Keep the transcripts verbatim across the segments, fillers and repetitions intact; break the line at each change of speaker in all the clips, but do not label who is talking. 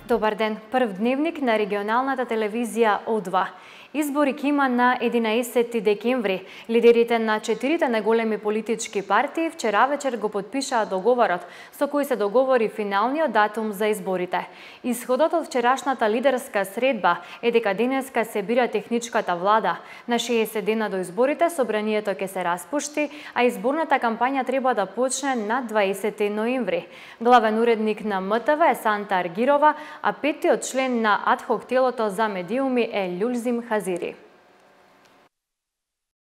Добар ден, прв дневник на регионалната телевизија О два. Избори ќе има на единаесети декември. Лидерите на четирите најголеми политички партии вчера вечер го потпишаа договорот со кој се договори финалниот датум за изборите. Исходот од вчерашната лидерска средба е дека денеска се бира техничката влада. На шеесет дена до изборите собранието ќе се распушти, а изборната кампања треба да почне на дваесети ноември. Главен уредник на М Т В е Санта Аргирова, а петтиот член на адхок телото за медиуми е Љулзим Хазири.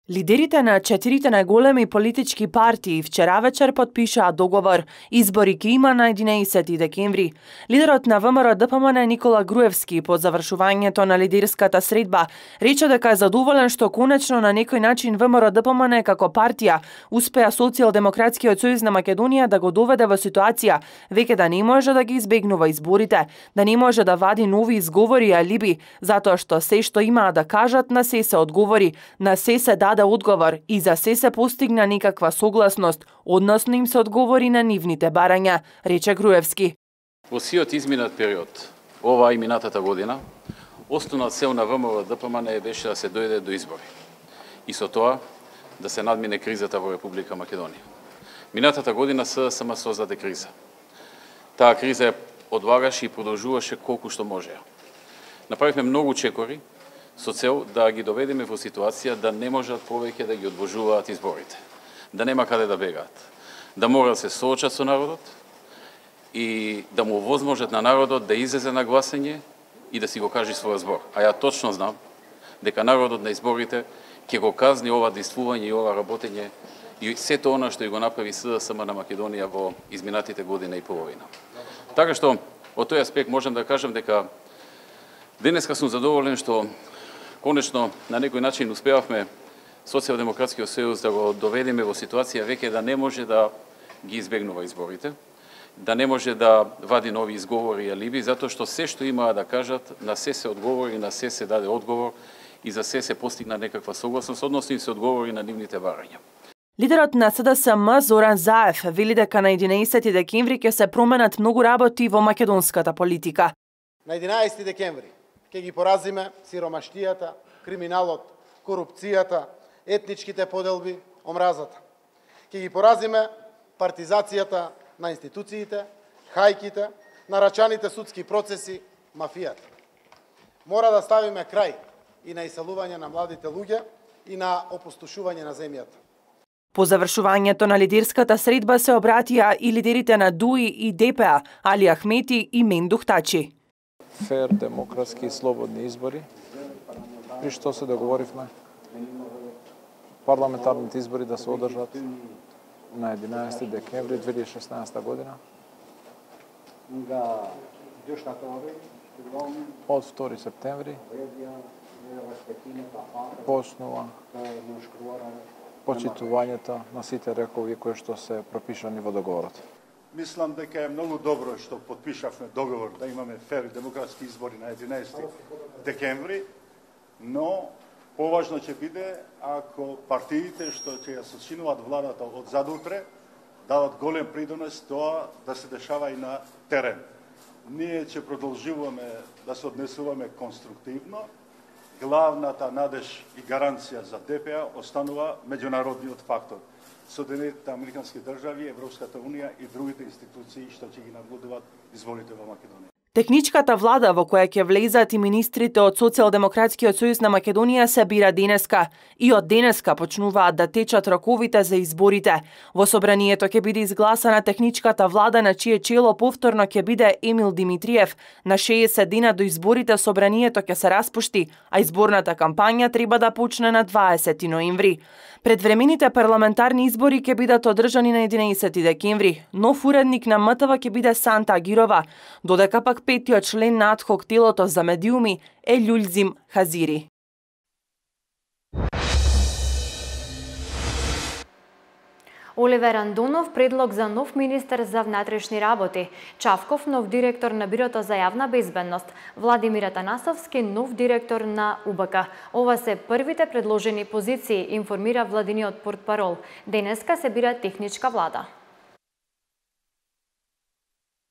Лидерите на четирите најголеми политички партии вчера вечер потпишаа договор. Избори ќе има на единаесети декември. Лидерот на В М Р Д П М Н Никола Груевски по завршувањето на лидерската средба рече дека е задоволен што конечно на некој начин В М Р Д П М Н како партија успеа Социјалдемократскиот сојуз на Македонија да го доведе во ситуација веќе да не може да ги избегнува изборите, да не може да вади нови изговори и алиби, затоа што се што имаа да кажат на се се одговори, на се се даде одговор и за се се постигна некаква согласност, односно им се одговори на нивните барања, рече Груевски.
Во сиот изминат период, оваа и минатата година, основна цел на В М Р Д П М Н беше да се дојде до избори и со тоа да се надмине кризата во Република Македонија. Минатата година С С М создаде криза. Таа криза ја одлагаше и продолжуваше колку што можеа. Направивме многу чекори со цел да ги доведеме во ситуација да не можат повеќе да ги одложуваат изборите, да нема каде да бегаат, да мора да се соочат со народот и да му овозможат на народот да излезе на гласање и да си го каже својот збор. А ја точно знам дека народот на изборите ќе го казни ова действување и ова работење и сето она што и го направи С С М на Македонија во изминатите година и половина. Така што, од тој аспект можам да кажам дека денеска сум задоволен што конечно на некој начин успеавме Социјалдемократскиот сојуз да го доведеме во ситуација веќе да не може да ги избегнува изборите, да не може да вади нови изговори и алиби, затоа што се што имаа да кажат, на се се одговори, на се се даде одговор и за се се постигна некаква согласност, односно им се одговори на нивните барања.
Лидерот на С Д С М Зоран Заев вели дека на единаесети декември ќе се променат многу работи во македонската политика.
На единаесети декември ќе ги поразиме сиромаштијата, криминалот, корупцијата, етничките поделби, омразата. Ќе ги поразиме партизацијата на институциите, хајките, нарачаните судски процеси, мафијата. Мора да ставиме крај и на иселување на младите луѓе и на опустошување на земјата.
По завршувањето на лидерската средба се обратија и лидерите на Д У И и Д П А, Али Ахмети и Мендух Тачи.
Фер, демократски и слободни избори, при што се договоривме парламентарните избори да се одржат на единаесети декември две илјади и шеснаесета година. Од втори септември почнува почитувањето на сите рекови кои што се пропишани во договорот.
Мислам дека е многу добро што потпишавме договор да имаме фер и демократски избори на единаесети декември, но поважно ќе биде ако партиите што ќе ја сочинуваат владата од задутре дават голем придонес тоа да се дешава и на терен. Ние ќе продолжуваме да се однесуваме конструктивно. Главната надеж и гаранција за Д П А останува меѓународниот фактор. Соединетите американски држави, Европската унија и другите институции што ќе ги наблюдуваат изборите во Македонија.
Техничката влада во која ќе влезат и министрите од Социјалдемократскиот сојуз на Македонија се бира денеска и од денеска почнуваат да течат роковите за изборите. Во собранието ќе биде изгласана техничката влада на чие чело повторно ќе биде Емил Димитриев. На шеесет дена до изборите собранието ќе се распушти, а изборната кампања треба да почне на дваесети ноември. Предвремените парламентарни избори ќе бидат одржани на единаесети декември. Нов уредник на М Т В ќе биде Санта Агирова, додека пак петтиот член на адхок телото за медиуми е Љулзим Хазири.
Оливер Андонов предлог за нов министер за внатрешни работи, Чавков нов директор на Бирото за јавна безбедност, Владимир Атанасовски нов директор на У Б К. Ова се првите предложени позиции, информира владиниот портпарол. Денеска се бира техничка влада.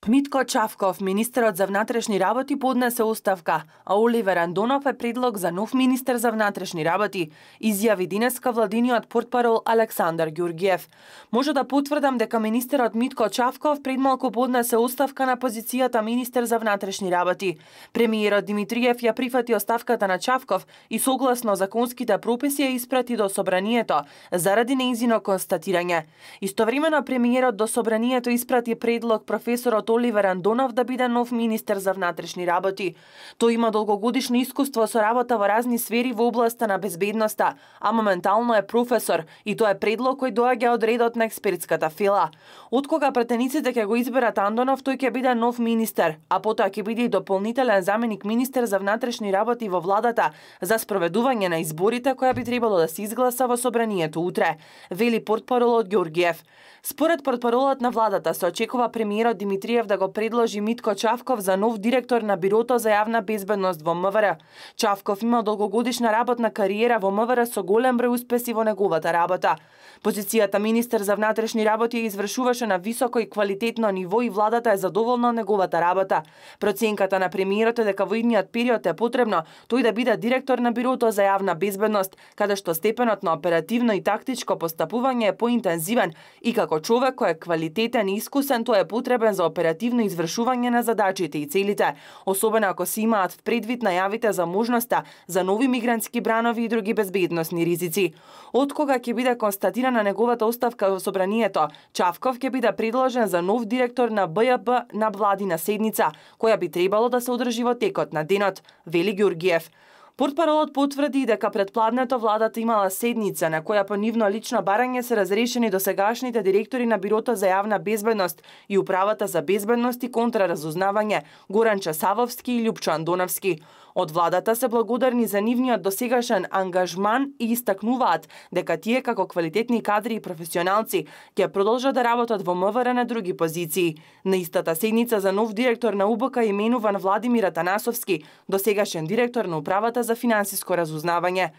Митко Чавков, министерот за внатрешни работи, поднесе оставка, а Оливер Андонов е предлог за нов министер за внатрешни работи, изјави денеска владиниот портпарол Александар Ѓурѓиев. Може да потврдам дека министерот Митко Чавков предмалку поднесе оставка на позицијата министер за внатрешни работи. Премиерот Димитриев ја прифати оставката на Чавков и согласно законските прописи ја испрати до собранието заради нејзино констатирање. Истовремено премиерот до собранието испрати предлог професорот Оливер Андонов да биде нов министер за внатрешни работи. Тој има долгогодишно искуство со работа во разни сфери во областа на безбедноста, а моментално е професор и тоа е предлог кој доаѓа од редот на експертската фила. Откога пратениците ќе го изберат Андонов, тој ќе биде нов министер, а потоа ќе биде и дополнителен заменик министер за внатрешни работи во владата за спроведување на изборите која би требало да се изгласа во собранието утре, вели портпаролот Ѓурѓиев. Според портпаролот на владата се очекува премиерот Димитриев да го предложи Митко Чавков за нов директор на Бирото за јавна безбедност во МВР. Чавков има долгогодишна работна кариера во МВР со голем број успеси во неговата работа. Позицијата министер за внатрешни работи ја извршуваше на високо и квалитетно ниво и владата е задоволна од неговата работа. Проценката на премиерот е дека во идниот период е потребно тој да биде директор на Бирото за јавна безбедност, каде што степенот на оперативно и тактичко постапување е поинтензивен и како човек кој е квалитетен и искусен, тој е потребен за оперативно извршување на задачите и целите, особено ако се имаат предвид најавите за можноста за нови мигрантски бранови и други безбедносни ризици. Откога ќе биде констатирана неговата оставка во собранието, Чавков ќе биде предложен за нов директор на Б Ј Б на владина седница, која би требало да се одржи во текот на денот, вели Ѓурѓиев. Портпаролот потврди дека предпладнето владата имала седница на која по нивно лично барање се разрешени досегашните директори на Бирото за јавна безбедност и Управата за безбедност и контраразузнавање Горан Часавовски и Љупчо Андоновски. Од владата се благодарни за нивниот досегашен ангажман и истакнуваат дека тие како квалитетни кадри и професионалци ќе продолжат да работат во МВР на други позиции. На истата седница за нов директор на У Б К именуван Владимир Атанасовски, досегашен директор на Управата за финансиско разузнавање.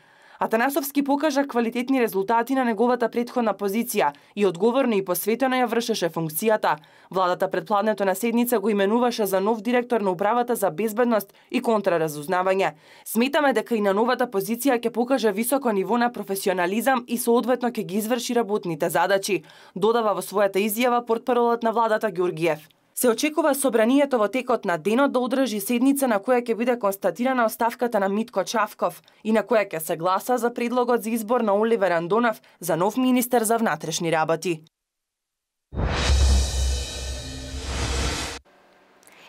Атанасовски покажа квалитетни резултати на неговата претходна позиција и одговорно и посветено ја вршеше функцијата. Владата предпладнето на седница го именуваше за нов директор на Управата за безбедност и контраразузнавање. Сметаме дека и на новата позиција ќе покаже високо ниво на професионализам и соодветно ќе ги изврши работните задачи, додава во својата изјава портпаролот на владата Ѓурѓиев. Се очекува собранието во текот на денот да одржи седница на која ќе биде констатирана оставката на Митко Чавков и на која ќе се гласа за предлогот за избор на Оливер Андонов за нов министер за внатрешни работи.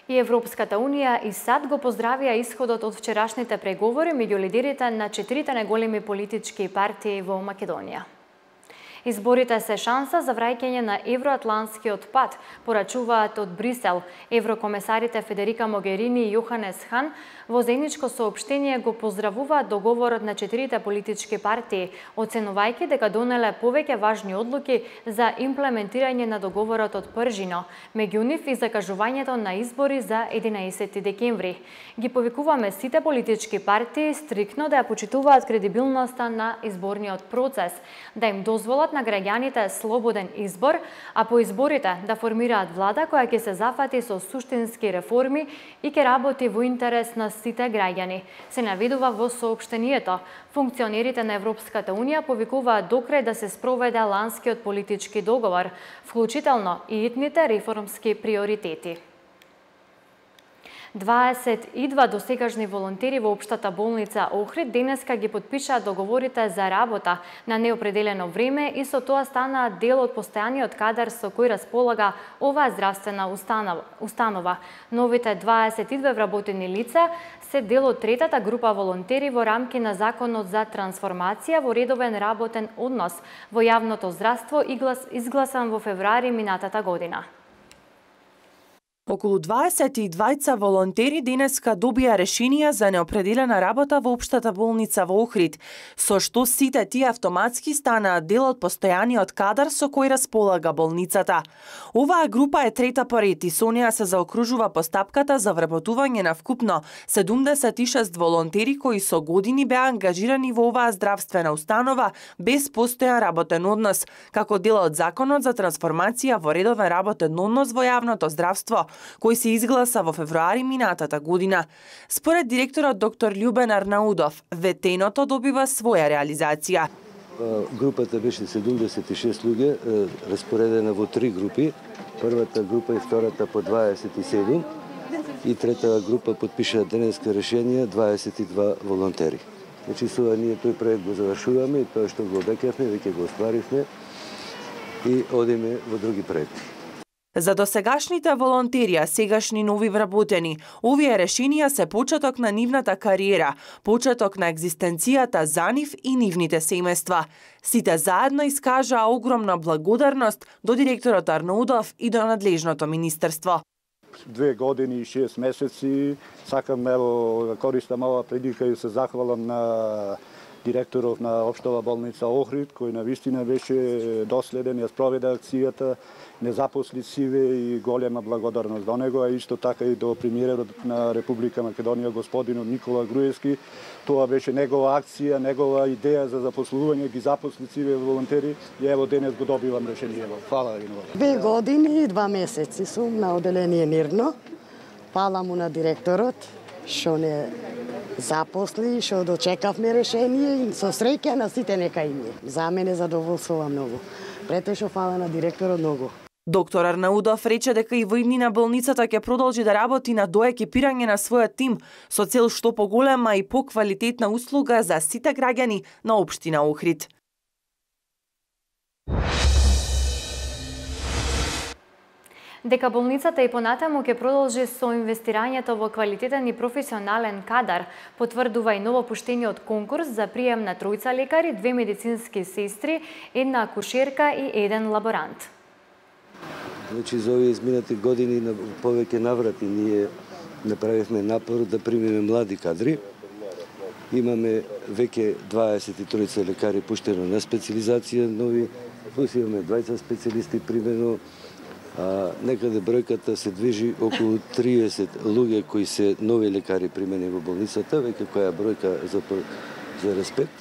И Европската Унија и САД го поздравија исходот од вчерашните преговори меѓу лидерите на четирите најголеми политички партии во Македонија. Изборите се шанса за враќање на евроатлантскиот пат, порачуваат од Брисел. Еврокомесарите Федерика Могерини и Јоханес Хан во заедничко соопштение го поздравуваат договорот на четирите политички партии, оценувајќи дека донеле повеќе важни одлуки за имплементирање на договорот од Пржино, меѓу нив и закажувањето на избори за единаесети декември. Ги повикуваме сите политички партии стрикно да ја почитуваат кредибилноста на изборниот процес, да им дозволат на граѓаните слободен избор, а по изборите да формираат влада која ќе се зафати со суштински реформи и ќе работи во интерес на сите граѓани, се наведува во соопштението. Функционерите на Европската Унија повикуваат докрај да се спроведе ланскиот политички договор, вклучително и итните реформски приоритети. дваесет и два досегашни волонтери во Општата болница Охрид денеска ги потпишаа договорите за работа на неопределено време и со тоа станаа дел од постојаниот кадар со кој располага оваа здравствена установа. Новите дваесет и две вработени лица се дел од третата група волонтери во рамки на Законот за трансформација во редовен работен однос во јавното здравство изгласан во февруари минатата година.
Околу дваесет и двајца волонтери денеска добија решенија за неопределена работа во Општата болница во Охрид, со што сите тие автоматски станаа дел од постојаниот кадар со кој располага болницата. Оваа група е трета по ред и со неа се заокружува постапката за вработување на вкупно седумдесет и шест волонтери кои со години беа ангажирани во оваа здравствена установа без постојан работен однос, како дел од Законот за трансформација во редовен работен однос во јавното здравство, кој се изгласа во февруари минатата година. Според директорот доктор Љубен Арнаудов, ветеното добива своја реализација.
Групата беше седумдесет и шест луѓе, распоредена во три групи. Првата група и втората по дваесет и седум и трета група подпиша денеска решение дваесет и два волонтери. Значи, сува ние тој проект го завршуваме и тоа што го обекавме, веќе го остваривме и одиме во други проекти.
За досегашните волонтери, а сегашни нови вработени, овие решенија се почеток на нивната кариера, почеток на екзистенцијата за нив и нивните семејства. Сите заедно искажаа огромна благодарност до директорот Арнаудов и до надлежното министерство.
Две години и шест месеци сакам ево користам ова прилика и се захвалам на директоров на Општова болница Охрид, кој навистина беше доследен, ја спроведе акцијата, не запосли сиве и голема благодарност до него, а исто така и до премиерот на Република Македонија, господинот Никола Груевски. Тоа беше негова акција, негова идеја за запослување, ги запосли сиве волонтери и ево денес го добивам решение. Фала ви много.
Две години и два месеци сум на оделение Нирно. Фала му на директорот што не запосли, што дочекавме решение и со среќа на сите нека и ние. За мене задоволствува многу. Претешо фала на директорот многу.
Доктор Арнаудов рече дека и во иднина болницата ќе продолжи да работи на доекипирање на својот тим со цел што поголема и поквалитетна услуга за сите граѓани на општина Охрид.
Дека болницата и понатаму ќе продолжи со инвестирањето во квалитетен и професионален кадар, потврдува и новопуштениот конкурс за прием на тројца лекари, две медицински сестри, една акушерка и еден лаборант.
Значи, за овие изминати години на повеќе наврати ние направивме напор да примеме млади кадри. Имаме веќе дваесет и тројца лекари пуштено на специализација, нови, плюс имаме двајца специјалисти примено. А, некаде бројката се движи околу триесет луѓе кои се нови лекари примени во болницата, веќе која бројка за, за респект.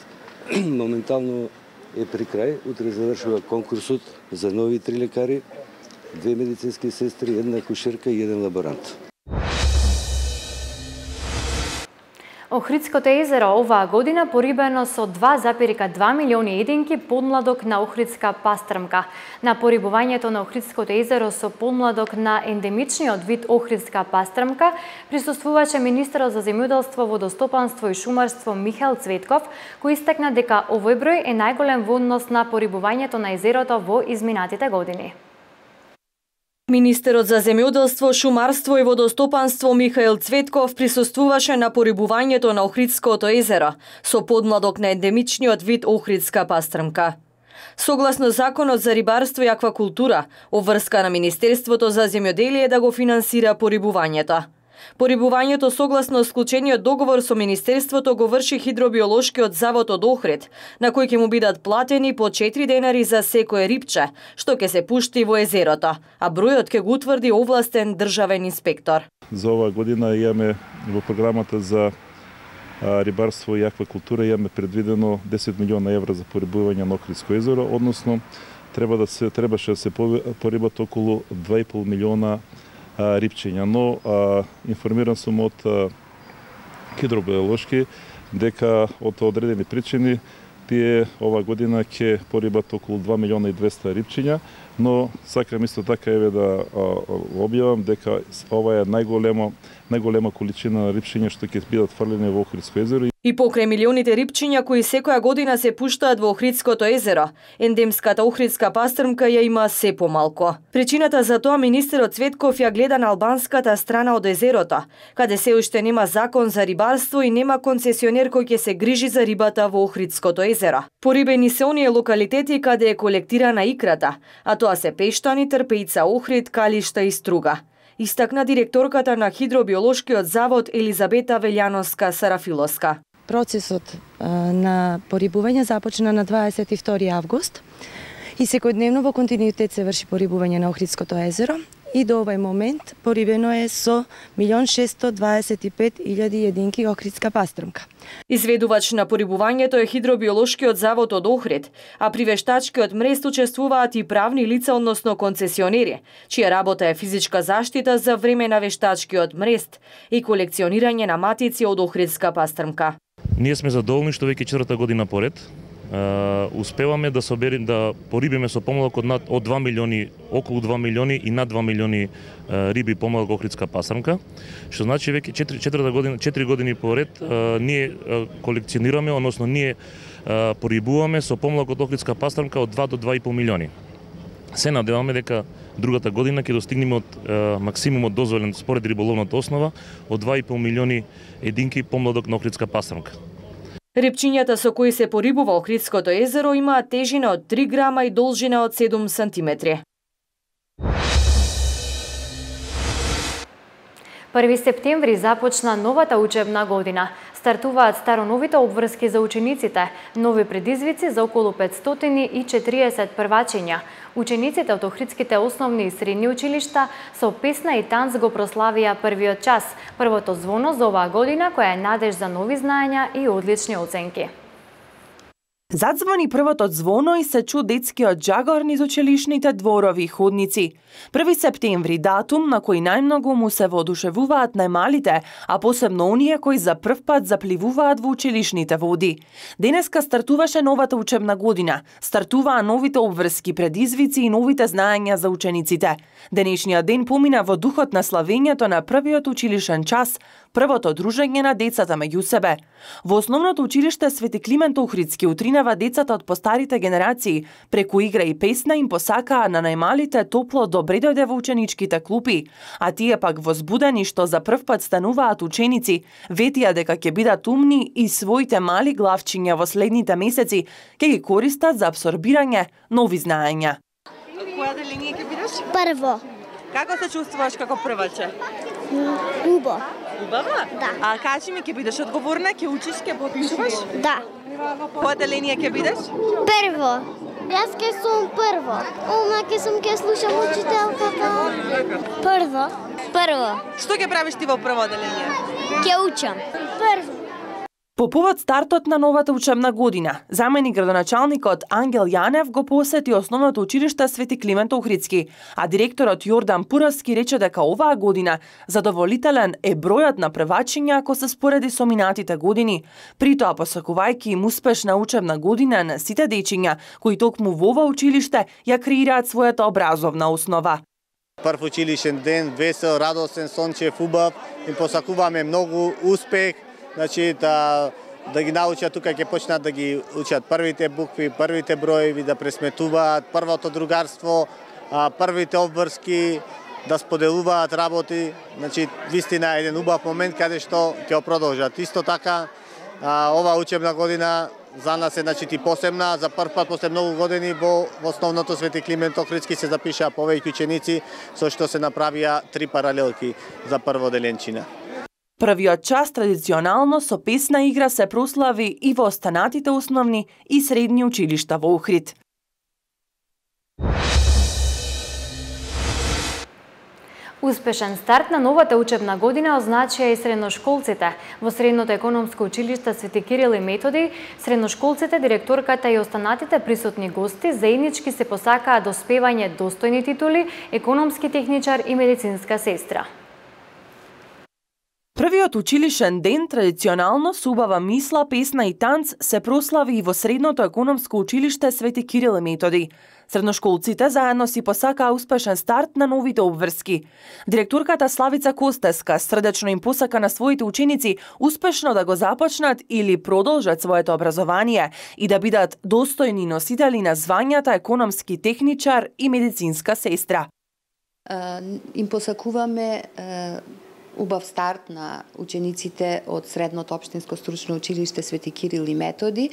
Моментално е при крај, утре завршува конкурсот за нови три лекари, две медицински сестри, една акушерка и еден лаборант.
Охридското езеро оваа година порибено со два запирка два милиони единки подмладок на охридска пастрмка. На порибувањето на Охридското езеро со подмладок на ендемичниот вид охридска пастрмка присуствуваше министерот за земјоделство, водостопанство и шумарство Михаил Цветков, кој истакна дека овој број е најголем во однос на порибувањето на езерото во изминатите години.
Министерот за земјоделство, шумарство и водостопанство Михаил Цветков присуствуваше на порибувањето на Охридското езеро со подмладок на ендемичниот вид охридска пастрмка. Согласно Законот за рибарство и аквакултура, обврска на Министерството за земјоделие да го финансира порибувањето. Порибувањето согласно склучениот договор со Министерството го врши Хидробиолошкиот завод од Охрид, на кој ќе му бидат платени по четири денари за секое рибче, што ќе се пушти во езерото, а бројот ќе го утврди овластен државен инспектор.
За оваа година имаме во програмата за рибарство и аквакултура имаме предвидено десет милиона евра за порибување на Охридско езеро, односно треба да се требаше да се порибат околу два и пол милиона рибчиња, но а, информиран сум од Хидробиолошки дека од одредени причини тие ова година ќе порибат околу два милиона и двесте рибчиња, но сакам исто така еве да објавам дека ова е најголема најголема количина на рибчиња што ќе бидат фрлени во Охридско езеро.
И покрај милионите рибчиња кои секоја година се пуштаат во Охридското езеро, ендемската охридска пастрмка ја има се помалку. Причината за тоа министерот Цветков ја гледа на албанската страна од езерото, каде се уште нема закон за рибарство и нема концесионер кој ќе се грижи за рибата во Охридското езеро. Порибени се оние локалитети каде е колектирана икрата, а тоа се Пештани, Трпејца, Охрид, Калишта и Струга. Истакна директорката на Хидробиолошкиот завод Елизабета Велјановска-Сарафиловска.
Процесот на порибување започна на дваесет и втори август и секојдневно во континуитет се врши порибување на Охридското езеро. и до овој момент порибено е со милион шестстотини дваесет и пет илјади единки охридска пастрмка.
Изведувач на порибувањето е Хидробиолошкиот завод од Охрид, а при вештачкиот мрест учествуваат и правни лица, односно концесионери, чија работа е физичка заштита за време на вештачкиот мрест и колекционирање на матици од охридска пастрмка.
Ние сме задоволни што веќе четврта година поред Uh, успеваме да соберем да порибиме со помалок од над од два милиони, околу два милиони и над два милиони uh, риби помалок охридска пастрмка, што значи веќе четврта година, четири години поред uh, ние uh, колекционираме, односно ние uh, порибуваме со помалок од охридска пастрмка од два до два и пол милиони. Се надеваме дека другата година ќе достигнеме од uh, максимумот дозволен според риболовната основа од два и пол милиони единки помладок на охридска пастрмка.
Репчињата со кои се порибува Охридското езеро имаат тежина од три грама и должина од седум сантиметри.
први септември започна новата учебна година. Стартуваат староновите обврски за учениците, нови предизвици за околу петстотини и четириесет првачиња. Учениците од Охридските основни и средни училишта со песна и танц го прославија првиот час, првото звоно за оваа година која е надеж за нови знаења и одлични оценки.
Задзвони првото звоно и се чу детскиот джагор низ училишните дворови и ходници. први септември, датум на кој најмногу му се воодушевуваат најмалите, а посебно оние кои за прв пат запливуваат во училишните води. Денеска стартуваше новата учебна година, стартуваа новите обврски, предизвици и новите знаења за учениците. Денешниот ден помина во духот на славењето на првиот училишен час, првото дружење на децата меѓу себе. Во основното училиште Свети Климент Охридски утринава децата од постарите генерации, преку игра и песна им посакаа на најмалите топло добре дојде во ученичките клупи, а тие пак возбудени што за прв пат стануваат ученици, ветија дека ќе бидат умни и своите мали главчиња во следните месеци ќе ги користат за апсорбирање нови знаења.
Која деление ќе бидеш?
Прво.
Како се чувствуваш како прваче?
Убаво.
Убава?
Да.
А кажи ми, ќе бидеш одговорна, ќе учиш, ќе попишуваш?
Да.
Која деление ќе бидеш?
Прво. Јас ќе сум прво. Ома ќе сум ќе слушам учителката. Прво. Прво.
Што ќе правиш ти во прво деление?
Ќе учам. Прво.
По повод стартот на новата учебна година, заменик градоначалникот Ангел Јанев го посети основното училиште Свети Климент Охридски, а директорот Јордан Пуровски рече дека оваа година задоволителен е бројот на првачиња ако се спореди со минатите години, притоа посакувајќи им успешна учебна година на сите дечиња кои токму во ова училиште ја креираат својата образовна основа.
Прв училишен ден, весел, радосен, сончев, убав, им посакуваме многу успех. Значи да да ги научат тука ќе почнат да ги учат првите букви, првите броеви, да пресметуваат, првото другарство, првите обврски, да споделуваат работи. Значи вистина е еден убав момент каде што ќе продолжат. Исто така ова учебна година за нас е значи ти посебна, за прв пат после многу години во основното Свети Климент Охридски се запишаа повеќе ученици, со што се направија три паралелки за прво деленчина.
Првиот час традиционално со песна игра се прослави и во останатите основни и средни училишта во Охрид.
Успешен старт на новата учебна година означија и средношколците. Во Средното економско училиште Свети Кирил и Методи, средношколците, директорката и останатите присутни гости заеднички се посакаа доспевање достојни титули, економски техничар и медицинска сестра.
Првиот училишен ден традиционално со убава мисла, песна и танц се прослави и во Средното економско училиште Свети Кирил и Методи. Средношколците заедно си посакаа успешен старт на новите обврски. Директорката Славица Костеска срдечно им посака на своите ученици успешно да го започнат или продолжат своето образование и да бидат достојни носители на звањата економски техничар и медицинска сестра.
Uh, им посакуваме uh... убав старт на учениците од Средното општинско стручно училиште Свети Кирил и Методи.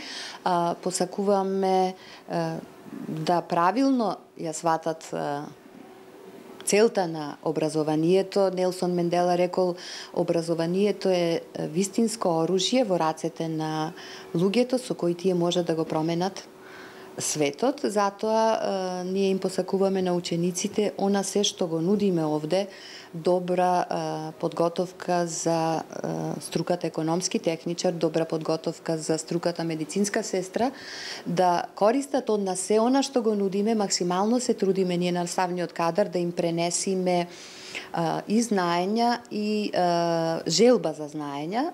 Посакуваме да правилно ја сватат целта на образованието. Нелсон Мендела рекол, образованието е вистинско оружје во рацете на луѓето со кои тие може да го променат светот, затоа ние им посакуваме на учениците она се што го нудиме овде, добра подготовка за струката економски техничар, добра подготовка за струката медицинска сестра, да користат од нас се она што го нудиме, максимално се трудиме ние наставниот кадар да им пренесиме и знаења и желба за знаења.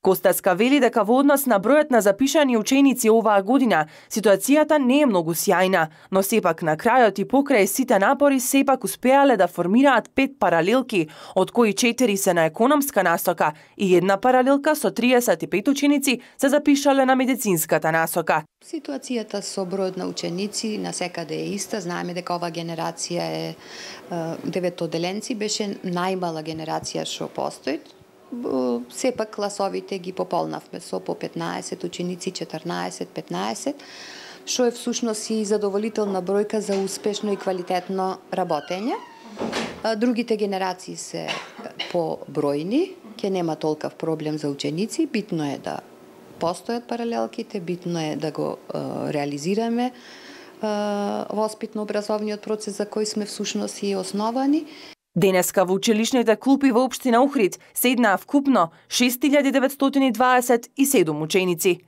Костаска вели дека во однос на бројот на запишани ученици оваа година, ситуацијата не е многу сјајна, но сепак на крајот и покрај сите напори сепак успеале да формираат пет паралелки, од кои четири се на економска насока и една паралелка со триесет и пет ученици се запишале на медицинската насока.
Ситуацијата со бројот на ученици на секаде е иста. Знаеме дека ова генерација е деветоделенци, беше најмала генерација што постои. Сепак класовите ги пополнавме со по петнаесет ученици, четрнаесет, петнаесет, што е всушност и задоволителна бројка за успешно и квалитетно работење. Другите генерации се побројни, ќе нема толков проблем за ученици, битно е да постојат паралелките, битно е да го реализираме воспитно-образовниот процес за кој сме всушност и основани.
Денеска во училишните клупи во општина Охрид седнаа вкупно шест илјади деветстотини дваесет и седум ученици.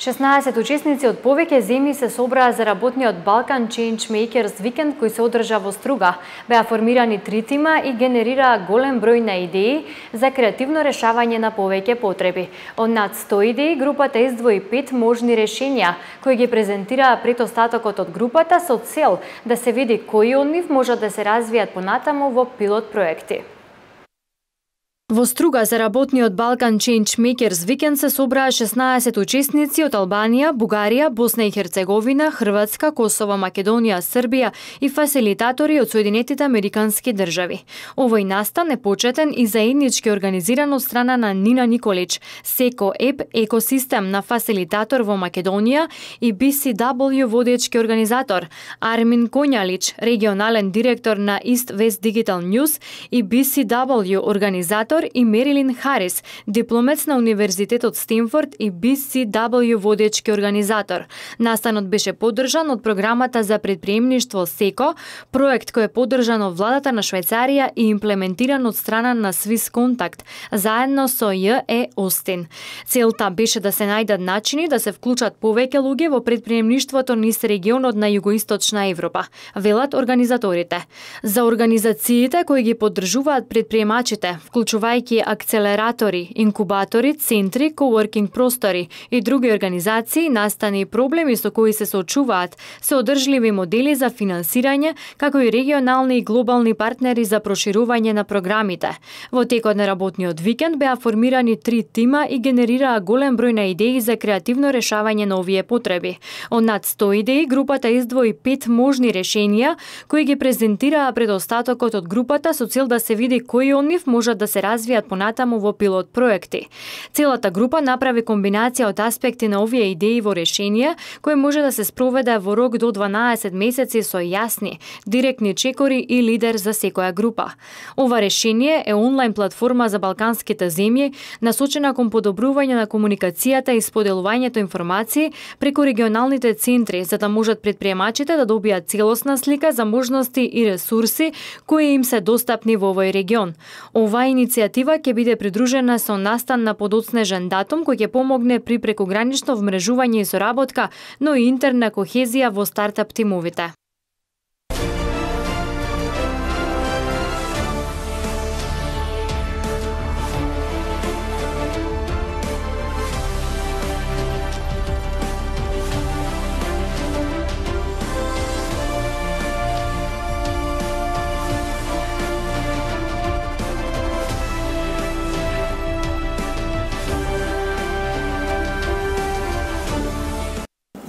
шеснаесет учесници од повеќе земји се собраа за работниот Balkan Change Makers викенд кој се одржа во Струга. Беа формирани три тима и генерираа голем број на идеи за креативно решавање на повеќе потреби. Од над сто идеи групата издвои пет можни решенија кои ги презентираа пред остатокот од групата со цел да се види кои од нив можат да се развијат понатаму во пилот проекти. Во Струга за работниот Balkan Change Makers викенд се собраа шеснаесет учесници од Албанија, Бугарија, Босна и Херцеговина, Хрватска, Косово, Македонија, Србија и фасилитатори од Соединетите Американски држави. Овој настан е почетен и заеднички организиран од страна на Нина Николич, Секо Еп екосистем на фасилитатор во Македонија и би си дабл ю водечки организатор, Армин Коњалич, регионален директор на East West Digital News и би си дабл ю организатор и Мерилин Харис, дипломец на Универзитетот Стенфорд и би си дабл ю водечки организатор. Настанот беше поддржан од програмата за предприемништво СЕКО, проект кој е поддржан од владата на Швајцарија и имплементиран од страна на Swiss Contact, заедно со Ј Е Остин. Целта беше да се најдат начини да се вклучат повеќе луѓе во предприемништвото низ регионот на југоисточна Европа, велат организаторите. За организациите кои ги поддржуваат предприемачите, вклучувајќи акцелератори, инкубатори, центри, коворкинг простори и други организации, настани и проблеми со кои се соочуваат, се одржливи модели за финансирање, како и регионални и глобални партнери за проширување на програмите. Во текот на работниот викенд беа формирани три тима и генерираа голем број на идеи за креативно решавање на овие потреби. Од над сто идеи, групата издвои пет можни решенија, кои ги презентираа пред остатокот од групата со цел да се види кои од нив можат да се развијат понатаму во пилот проекти. Целата група направи комбинација од аспекти на овие идеи во решение, кој може да се спроведе во рок до дванаесет месеци со јасни, директни чекори и лидер за секоја група. Ова решение е онлайн платформа за балканските земји, насочена кон подобрување на комуникацијата и споделувањето информации преку регионалните центри, за да можат предприемачите да добијат целосна слика за можности и ресурси кои им се достапни во овој регион. Оваа иницијатива ќе биде придружена со настан на подоцнежен датум кој ќе помогне при прекогранично вмрежување и соработка, но и интерна кохезија во стартап тимовите.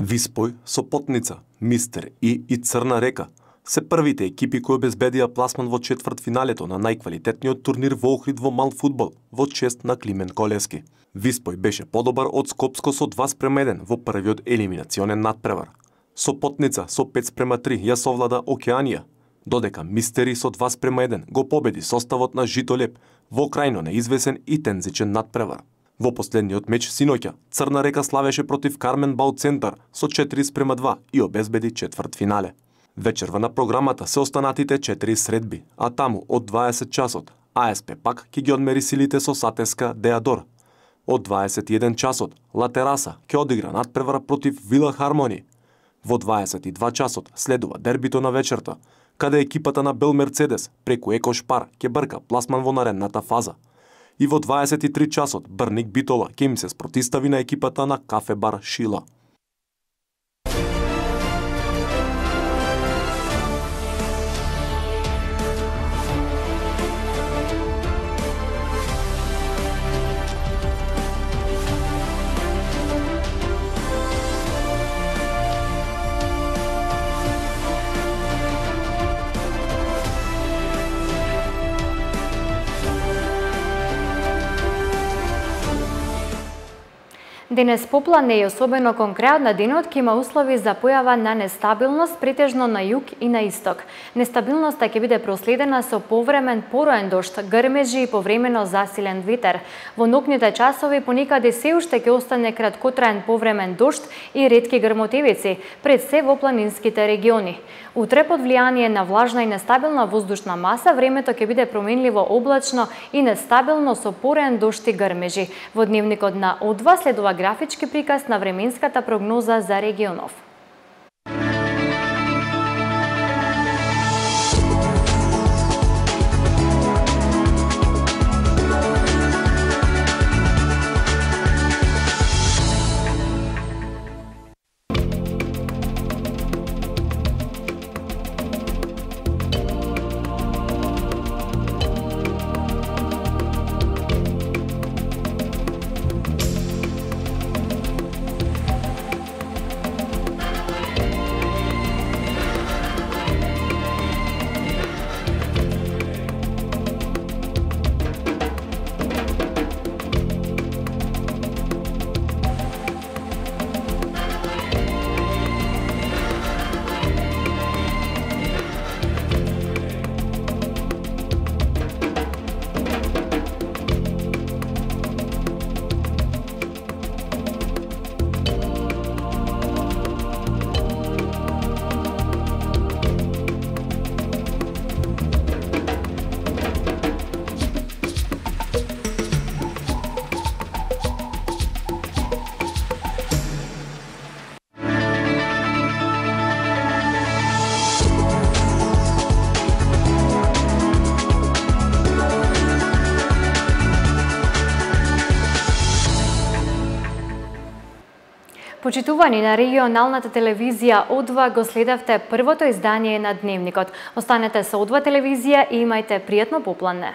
Виспој, Сопотница, Мистер И и Црна река се првите екипи кои обезбедија пласман во четвртфиналето на најквалитетниот турнир во Охрид во мал фудбал во чест на Климен Колевски. Виспој беше подобар од Скопско со два спрема еден во првиот елиминационен надпревар. Сопотница со пет спрема три ја совлада Океанија, додека Мистери со два спрема еден го победи составот на Житолеп во крајно неизвесен и тензичен надпревар. Во последниот меч синоќа, Црна Река славеше против Кармен Бау Центар со четири спрема два и обезбеди четврт финале. Вечерва на програмата се останатите четири средби, а таму од дваесет часот А С П пак ќе ги одмери силите со Сатеска Деадор. Од дваесет и еден часот Ла Тераса ќе одигра надпревар против Вила Хармони. Во дваесет и два часот следува дербито на вечерта, каде екипата на Бел Мерцедес преку Еко Шпар ќе брка пласман во наредната фаза. И во дваесет и три часот Брник Битола ќе им се спротистави на екипата на Кафе Бар Шила.
Денес поплане и особено кон крајот на денот ќе има услови за појава на нестабилност претежно на југ и на исток. Нестабилноста ќе биде проследена со повремен пороен дожд, грмежи и повремено засилен ветер. Во ноќните часови понекаде се уште ќе остане краткотраен повремен дожд и ретки грмотевици, пред се во планинските региони. Утре под влијание на влажна и нестабилна воздушна маса, времето ќе биде променливо облачно и нестабилно со пороен дожд и грмежи. Во дневникот на О два следува графички приказ на временската прогноза за регионов. Почитувани на регионалната телевизија О два, го следевте првото издание на Дневникот. Останете со О два телевизија и имајте пријатно поплане.